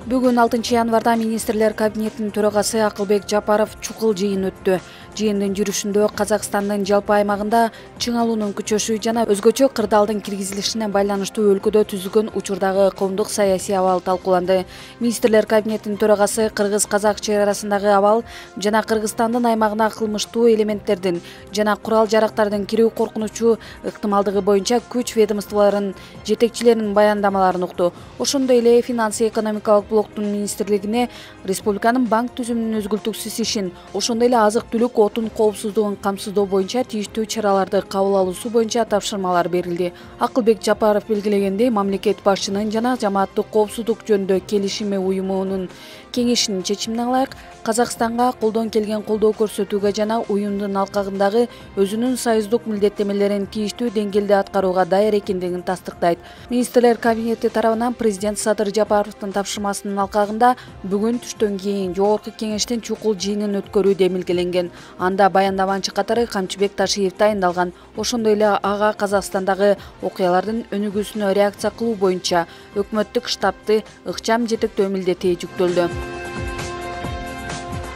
Бүгүн 6-январда министрлер кабинетинин төрагасы Акылбек Жапаров чукул жыйын өттү. Жыйындын жүрүшүндө Казакстандын жалпы аймагында чыңалуунун күчөшү жана өзгөчө кырдаалдын киргизилишине байланыштуу өлкөдө түзүлгөн учурдагы коомдук саясий абал талкууланды. Министрлер кабинетинин төрагасы кыргыз-казак чек арасындагы абал жана Кыргызстандын аймагына кылмыштуу элементтердин жана курал-жарактардын кирүү коркунучу ыктымалдыгы боюнча күч ведомстволорунун жетекчилеринин баяндамаларын укту. Ошондой эле финансы-экономикалык блоктун министрлигине республиканын банк түзүмүнүн өзгөлтүксүз ишин, ошондой эле азык-түлүк, отун коопсуздугун камсыздоо боюнча тийиштүү чараларды кабыл алуусу боюнча тапшырмалар берилди. Акылбек Жапаров белгилегендей, мамлекет башчынын жана Жамааттык коопсуздук жөнүндө келишими уюмунун кеңешинин чечимине ылайык Казакстанга колдон келген колдоо көрсөтүүгө жана уюмдун алкагындагы өзүнүн союздук милдеттемелерин тийиштүү деңгээлде аткарууга даяр экендигин тастыктайт. Министрлер кабинети тарабынан президент Садыр Жапаровдун тапшырмасынын алкагында бүгүн түштөн кийин жогорку кеңештин чукул жыйынын өткөрүү демилгеленген. Анда баяндамачы катары Камчыбек Ташиев дайындалган. Ошондой эле ага Казакстандагы окуялардын өнүгүүсүнө реакция кылуу боюнча өкмөттүк штабты ыкчам жетектөө милдети жүктөлдү.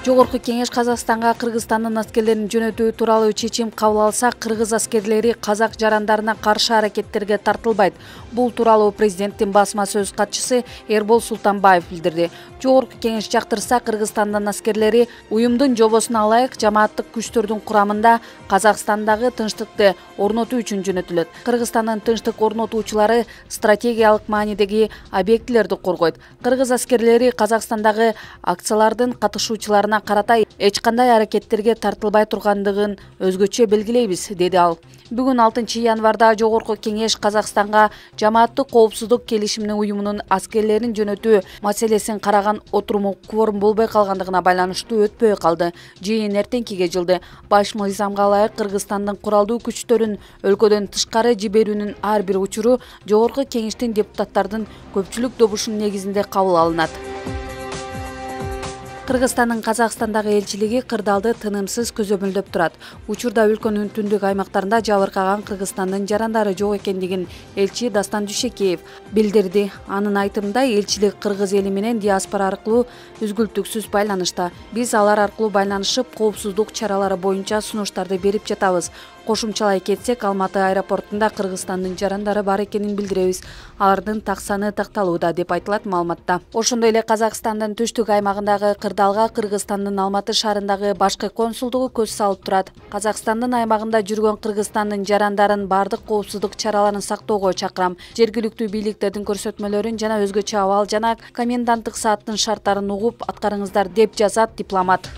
Жогорку кеңеш Казакстанга Кыргызстандын аскерлерин жөнөтүү тууралуу чечим кабыл алса, кыргыз аскерлери казак жарандарына каршы аракеттерге тартылбайт. Бул тууралуу президенттин басма сөз катчысы Эрбол Султанбаев билдирди. Жогорку кеңеш жактырса, Кыргызстандын аскерлери уюмдун жобосуна ылайык жамааттык күчтөрдүн курамында Казакстандагы тынчтыкты орнотуу үчүн жөнөтүлөт. Кыргызстандын тынчтык орнотуучулары стратегиялык маанидеги объектилерди коргойт. Кыргыз аскерлери Казакстандагы акциялардын катышуучуларына карата эч кандай аракеттерге тартылбай тургандыгын өзгөчө белгилейбиз, деди ал. Бүгүн 6-январда жогорку кеңеш Казакстанга жамааттык коопсуздук келишиминин уюмунун аскерлерин жөнөтүү маселесин караган отуруму кворум болбой калгандыгына байланыштуу өтпөй калды. Жыйын эртеңкиге жылды. Баш мыйзамга ылайык Кыргызстандын куралдуу күчтөрүн өлкөдөн тышкары жиберүүнүн ар бир учуру жогорку кеңештин депутаттардын көпчүлүк добушунун негизинде кабыл алынат. Кыргызстандын Казакстандагы элчилиги кырдаалды тынымсыз көзөмөлдөп турат. Учурда өлкөнүн түндүк аймактарында жабыркаган Кыргызстандын жарандары жок экендигин элчи Дастан Дүйшекеев билдирди. Анын айтымында, элчилик кыргыз эли менен диаспора аркылуу үзгүлтүксүз байланышта. Биз алар аркылуу байланышып, коопсуздук чаралары боюнча сунуштарды берип жатабыз. Кошумчалай кетсек, Алматы аэропортунда Кыргызстандын жарандары бар экенин билдиребиз. Алардын так саны такталууда, деп айтылат маалыматта. Ошондой эле Казакстандын түштүк аймагындагы кырдаалга Кыргызстандын Алматы шаарындагы башкы консулдугу көз салып турат. Казакстандын аймагында жүргөн Кыргызстандын жарандарын бардык коопсуздук чараларын сактоого чакырам. Жергиликтүү бийликтердин көрсөтмөлөрүн жана өзгөчө абал жана коменданттык сааттын шарттарын угуп аткарыңыздар, деп жазат дипломат.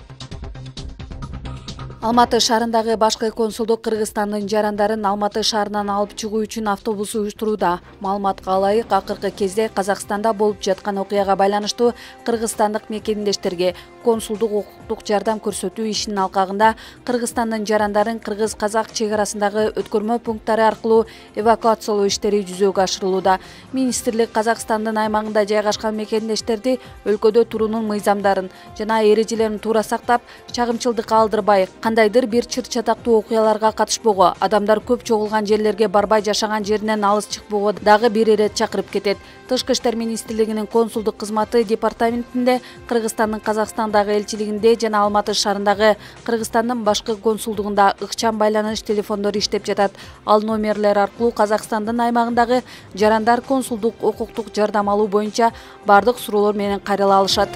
Алматы шаарындагы башкы консулдук Кыргызстандын жарандарын Алматы шаарынан алып чыгуу үчүн автобус уюштурууда. Маалыматка ылайык, акыркы кезде Казакстанда болуп жаткан окуяга байланыштуу кыргызстандык мекендештерге консулдук укуктук жардам көрсөтүү ишинин алкагында Кыргызстандын жарандарын кыргыз-казак чек арасындагы өткөрмө пункттары аркылуу эвакуациялоо иштери жүзөгө ашырылууда. Министрлик Казакстандын аймагында жайгашкан мекендештерди өлкөдө туруунун мыйзамдарын жана эрежелерин туура сактап, чагымчылдыкка алдырбай, кандайдыр бир чыр-чатактуу окуяларга катышпоого, адамдар көп чогулган жерлерге барбай, жашаган жеринен алыс чыкпоого дагы бир ирет чакырып кетет. Тышкы иштер министрлигинин консулдук кызматы департаментинде, Кыргызстандын Казакстандагы элчилигинде жана Алматы шаарындагы Кыргызстандын башкы консулдугунда ыкчам байланыш телефондору иштеп жатат. Ал номерлер аркылуу Казакстандын аймагындагы жарандар консулдук укуктук жардам алуу боюнча бардык суроолор менен кайрыла алышат.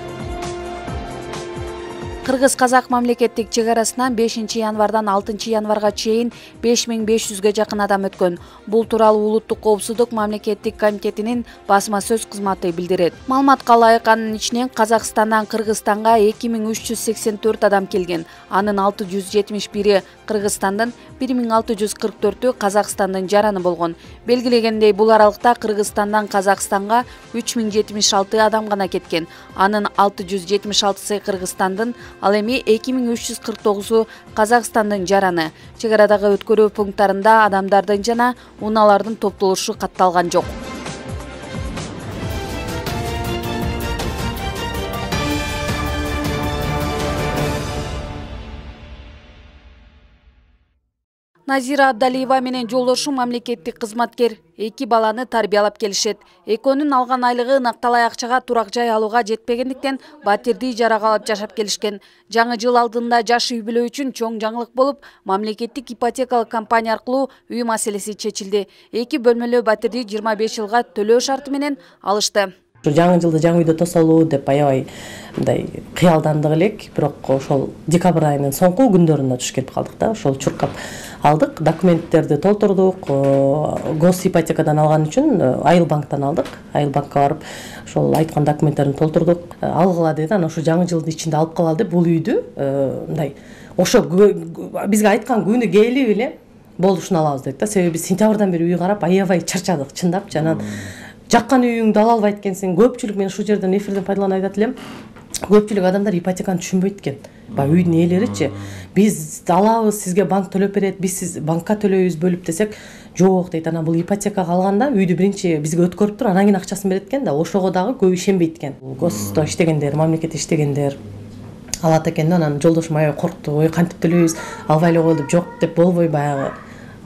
Кыргыз-казак мамлекеттик чек арасынан 5-январдан 6-январга чейин 5500ге жакын адам өткөн. Бул тууралуу Улуттук коопсуздук мамлекеттик комитетинин басма сөз кызматы билдирет. Маалыматка ылайык, анын ичинен Казакстандан Кыргызстанга 2384 адам келген. Анын 671 Кыргызстандын, 1644-ü Казакстандын жараны болгон. Белгилегендей, бул аралыкта Кыргызстандан Казакстанга 3076 адам гана кеткен. Анын 676-сы Кыргызстандын, ал эми 2349-у Казакстандын жараны. Чек арадагы өткөрүү пункттарында адамдардын жана унаалардын топтолушу катталган жок. Назира Абдалиева менен жолдошу мамлекеттик кызматкер 2 баланы тарбиялап келишет. Экөөнүн алган айлыгы накталай акчага турак жай алууга жетпегендиктен батирди ижарага алып жашап келишкен. Жаңы жыл алдында жаш үй бүлө үчүн чоң жаңылык болуп, мамлекеттик ипотекалык компания аркылуу үй маселеси чечилди. 2 бөлмөлүү батирди 25 жылга төлөө шарты менен алышты. Жаңы жылды жаңы үйдө тосолуу деп аябай мындай кыялдандык элек, бирок ошол декабрь айынын соңку күндөрүндө туш келип калдык да. Ошол чуркап алдык, документтерди толтурдук, гос ипотекадан алган үчүн Айылбанктан алдык. Айылбанкка барып, ошол айткан документтерин толтурдук. Алгыла деди, анан ошо жаңы жылдын ичинде алып калалы деп бул үйдү мындай ошо бизге айткан күнү келип эле болушун алабыз дедик да. Себеби сентябрдан бери үй карап аябай чарчадык, чындапчы. Анан жаккан үйүңдү ала албайт экенсиң. Көпчүлүк, мен ушул жерден эфирден пайдаланып айтат элем, көпчүлүк адамдар ипотеканы түшүнбөйт экен. Баягы үйдүн ээлеричи, биз алабыз, сизге банк төлөп берет, биз сиз банкка төлөйбүз бөлүп десек, жок дейт. Анан бул ипотекага алганда үйдү биринчи бизге өткөрүп туруп, анан кийин акчасын берет экен да. Ошого дагы көп ишенбейт экен. Госто иштегендер, мамлекетте иштегендер алат экен да. Анан жолдошум аябай коркту. Ой, кантип төлөйбүз? Албай эле коелу деп, жок деп болбой, баягы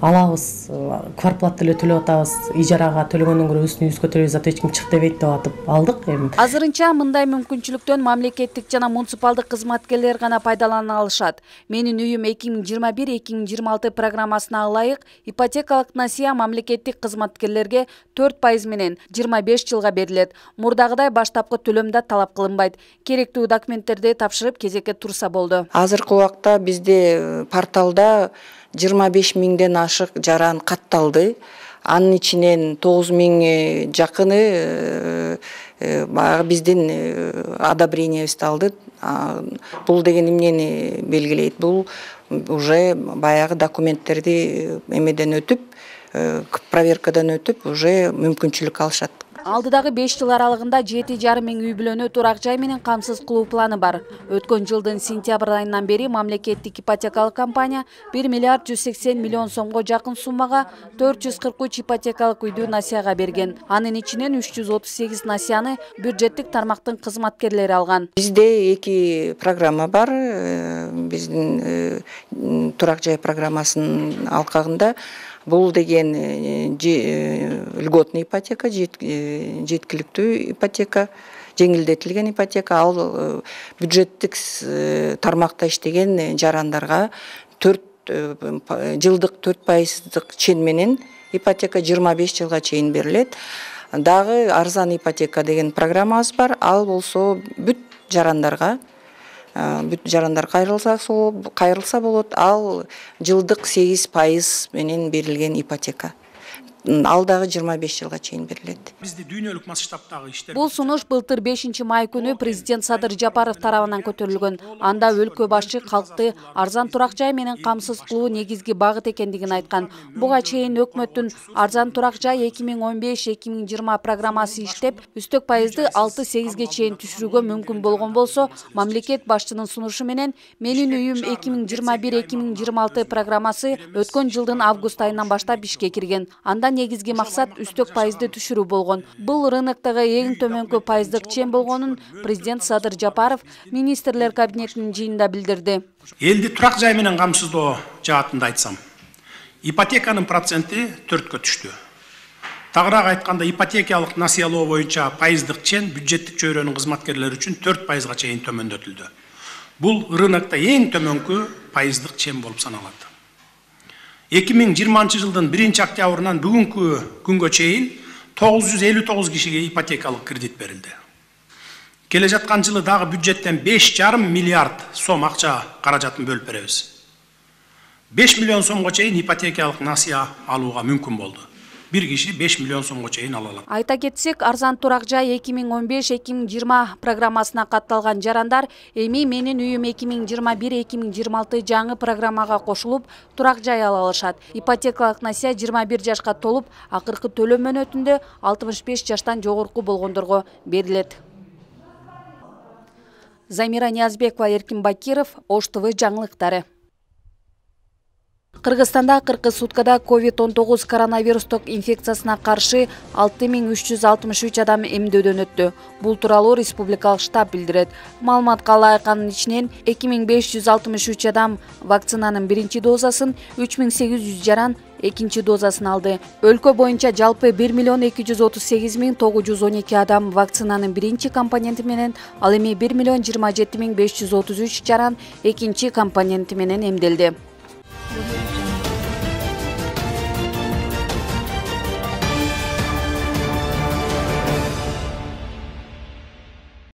алабыз, квартплата эле төлөп атабыз, ижарага төлөгөндөн көрө үстүнө төлөйбүз, ата эч ким чык дебейт деп атып алдык. Эми азырынча мындай мүмкүнчүлүктөн мамлекеттик жана муниципалдык кызматкерлер гана пайдалана алышат. Менин үйүм 2021-2026 программасына ылайык ипотекалык насыя мамлекеттик кызматкерлерге 4% менен 25 жылга берилет. Мурдагыдай баштапкы төлөм да талап кылынбайт. Керектүү документтерди тапшырып кезекке турса болду. Азыркы убакта бизде порталда 25 миңден ашык жаран катталды. Анын ичинен 9 миң жакыны баягы биздин одобрениябызды алды. Бул деген эмнени белгилейт? Бул уже баягы документтерди эмеден өтүп, проверкадан өтүп, уже мүмкүнчүлүк алышат. Алдыдагы 5 жыл аралыгында 7,5 миң үй бүлөнү турак жай менен камсыз кылуу планы бар. Өткөн жылдын сентябрь айынан бери мамлекеттик ипотекалык компания 1 миллиард 180 миллион сомго жакын суммага 443 ипотекалык үйдү насыяга берген. Анын ичинен 338 насыяны бюджеттик тармактын кызматкерлери алган. Бизде 2 программа бар. Биздин турак жай программасынын алкагында бул деген льготный ипотека, жеткиликтүү ипотека, жеңилдетилген ипотека. Ал бюджеттик тармакта иштеген жарандарга 4 жылдык 4% чен менен ипотека 25 жылга чейин берилет. Дагы арзан ипотека деген программабыз бар. Ал болсо бүт жарандар кайрылса болот. Ал жылдык 8% менен берилген ипотека. Ал дагы 25 жылга чейин берилет. Бизде дүйнөлүк масштабтагы иштер. Бул сунуш былтыр 5 май күнү президент Садыр Жапаров тарабынан көтөрүлгөн. Анда өлкө башчы калкты арзан турак жай менен камсыз кылуу негизги багыт экендигин айткан. Буга чейин өкмөттүн арзан турак жай 2015-2020 программасы иштеп, үстөк пайызды 6-8ге чейин түшүрүүгө мүмкүн болгон болсо, мамлекет башчынын сунушу менен Менин үйүм 2021-2026 программасы өткөн жылдын август айынан баштап ишке кирген. Анда негизги максат үстөк пайызды түшүрүү болгон. Бул рыноктогу эң төмөнкү пайыздык чен болгонун президент Садыр Жапаров министрлер кабинетинин жыйынында билдирди. Элди турак жай менен камсыздоо жаатында айтсам, ипотеканын проценти 4кө түштү. Тагыраак айтканда, ипотекалык насыялоо боюнча пайыздык чен бюджеттик чөйрөнүн кызматкерлери үчүн 4%га чейин төмөндөтүлдү. Бул рынокто эң төмөнкү пайыздык чен болуп саналат. 2020 жылдын 1 октябрынан бүгүнкү күнгө чейин 959 кишиге ипотекалык кредит берилди. Келе жаткан жылы дагы бюджеттен 5,5 миллиард сом акча каражатын бөлүп беребиз. 5 миллион сомго чейин ипотекалык насыя алууга мүмкүн болду. Bir kişi 5 milyon so'mga чейин ала алат. Айта кетсек, арзан турак жай 2015-2020 программасына катталган жарандар эми Менин үйүм 2021-2026 жаңы программага кошулуп, турак жай ала алышат. Ипотекалык насыя 21 жашка толуп, акыркы төлөм мөөнөтүндө 65 жаштан жогорку болгондорго берилет. Замира Ниязбекова, Эркин Бакиров, Ош ТВ жаңылыктары. Кыргызстанда акыркы суткада COVID-19 коронавирустук инфекциясына каршы 6363 адам эмдөөдөн өттү. Бул тууралуу республикалык штаб билдирет. Маалыматка ылайык анын ичинен 2563 адам вакцинанын биринчи дозасын, 3800 жаран экинчи дозасын алды. Өлкө боюнча жалпы 1.238.912 адам вакцинанын биринчи компоненти менен, ал эми 1.027.533 жаран экинчи компоненти менен эмделди.